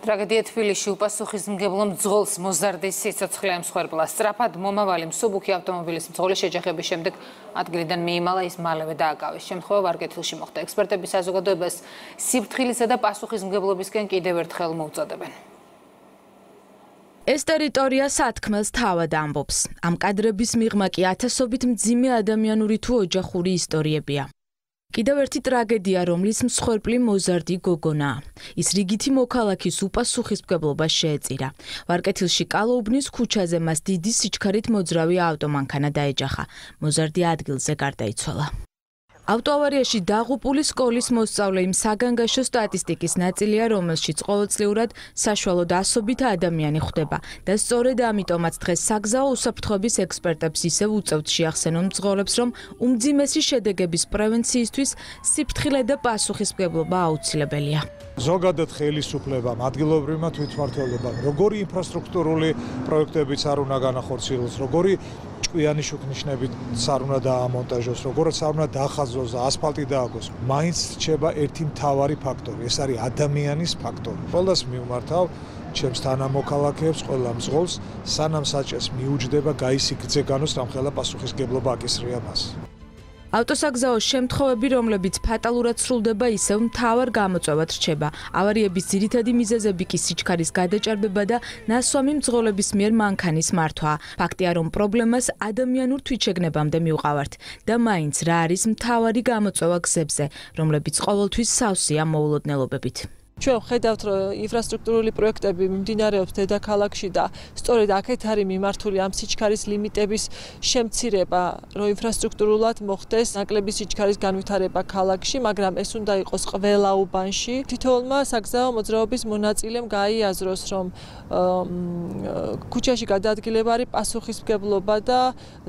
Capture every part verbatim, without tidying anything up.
ტრაგედია თბილისში უპასუხისმგებლო მძღოლს მოზარდის სიცოცხლე ემსხვერპლა. სწრაფად მომავალი მსუბუქი ავტომობილის მძღოლის შეჯახების შემდეგ ადგილიდან მიიმალა, ის მალევე დააკავეს. შემთხვევა ვარკეთილში მოხდა. ექსპერტები საზოგადოებას სიფრთხილისა და პასუხისმგებლობისკენ კიდევ ერთხელ მოუწოდებენ. ეს ტერიტორია სათქმელს თავად ამბობს. ამ კადრების მიღმა კი ათასობით მძიმე ადამიანური თუ ოჯახური ისტორიებია. კიდევ ერთი ტრაგედია, რომლის მსხვერპლი მოზარდი გოგონაა. ის რიგითი მოქალაქის უპასუხისმგებლობას შეეწირა. ვარკეთილში კალოუბნის ქუჩაზე მას დიდი სიჩქარით მოძრავი ავტომანქანა დაეჯახა. მოზარდი ადგილზე გარდაიცვალა. ავტოავარიაში დაღუპული სკოლის მოსწავლე იმ საგანგაშო სტატისტიკის ნაწილია, რომელშიც ყოველწლიურად საშუალოდ ასობით ადამიანი ხვდება და სწორედ ამიტომაც დღეს საგზაო უსაფრთხოების ექსპერტებს ისევ უწევთ შეახსენონ მძღოლებს, რომ უმძიმესი შედეგების პრევენციისთვის სიფრთხილე და პასუხისმგებლობა აუცილებელია. ზოგადად ხელისუფლებამ, ადგილობრივმა თვითმმართველობამ, როგორი ინფრასტრუქტურული პროექტებიც არ უნდა განახორციელოს, როგორი ჭკვიანი შუქნიშნებით არ უნდა დაამონტაჟოს, როგორც არ უნდა დაახაზოს და ასფალტი დააგოს. მაინც რჩება ერთი მთავარი ფაქტორი, ეს არის ადამიანის ფაქტორი. ყველას მივმართავ ჩემს თანამოქალაქეებს, ყველა მძღოლს, სანამ საჭეს მიუჯდება, გაისიქძე განოს, რამხელა პასუხისმგებლობა აკისრია მას. ავტოსაგზაოს შემთხვევები, რომლებიც ფატალურად სრულდება, ისევ მთავარ გამოწვევად რჩება. ავარიების ძირითადი მიზეზები კი სიჩქარის გადაჭარბება და ნასვამი მძღოლების მიერ მანქანის მართვაა. ფაქტია, რომ პრობლემას ადამიანურ თვითშეგნებამდე მივყავართ და მაინც რა არის მთავარი გამოწვევა გზებზე, რომლებიც ყოველთვის სავსეა მოულოდნელობებით. ჩვენ ხედავთ, რომ ინფრასტრუქტურული პროექტები მიმდინარეობს დედაქალაქში და სწორედ აქეთ არის მიმართული ამ სიჩქარის ლიმიტების შემცირება, რომ ინფრასტრუქტურულად მოხდეს ნაკლები სიჩქარის განვითარება ქალაქში, მაგრამ ეს უნდა იყოს ყველა უბანში. თითოეულმა საგზაო მოძრაობის მონაწილემ გაიაზროს, რომ ქუჩაში გადაადგილება არის პასუხისმგებლობა და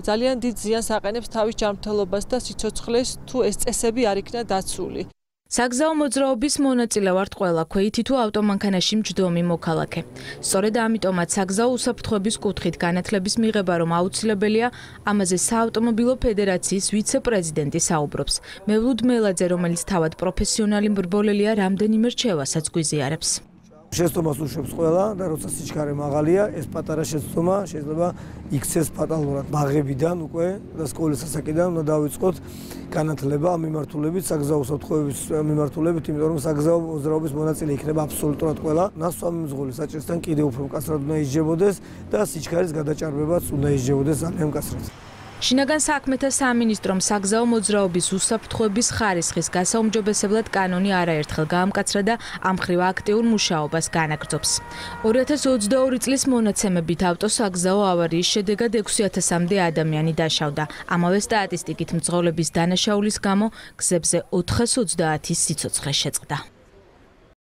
ძალიან დიდ ზიანს აყენებს თავის ჯანმრთელობას და სიცოცხლეს, თუ ეს წესები არ იქნა დაცული. საგზაო მოძრაობის მონაწილე ვართ ყველა, ქვეითი თუ ავტომანქანაში მჯდომი მოქალაქე. სწორედ ამიტომაც საგზაო უსაფრთხოების კუთხით განათლების მიღება რომ აუცილებელია, ამაზე საავტომობილო ფედერაციის ვიცე-პრეზიდენტი საუბრობს. მევლუდ მელაძე, რომელიც თავად პროფესიონალი მრბოლელია, რამდენიმე რჩევასაც გვიზიარებს. შეცდომას უშვებს ყველა და როცა სიჩქარე მაღალია, ეს პატარა შეცდომა შეიძლება იქცეს ფატალურად. ბაღებიდან უკვე და სკოლის ასაკიდან უნდა დავიწყოთ განათლება ამ მიმართულებით, საგზაო უსაფრთხოების მიმართულებით, იმიტომ რომ საგზაო მოძრაობის მონაწილე იქნება აბსოლუტურად ყველა. ნასვამი მძღოლი საჭესთან კიდევ უფრო მკაცრად უნდა ისჯებოდეს და სიჩქარის გადაჭარბებაც უნდა ისჯებოდეს ძალიან მკაცრად. შინაგან საქმეთა სამინისტრომ საგზაო მოძრაობის უსაფრთხოების ხარისხის გასაუმჯობესებლად კანონი არაერთხელ გაამკაცრა და ამ მხრივ აქტიურ მუშაობას განაგრძობს. ორი ათას ოცდაორი წლის მონაცემებით ავტოსაგზაო ავარიის შედეგად ექვსი ათასამდე ადამიანი დაშავდა. ამავე სტატისტიკით მძღოლების დანაშაულის გამო გზებზე ოთხას ოცდაათის სიცოცხლე შეწყდა.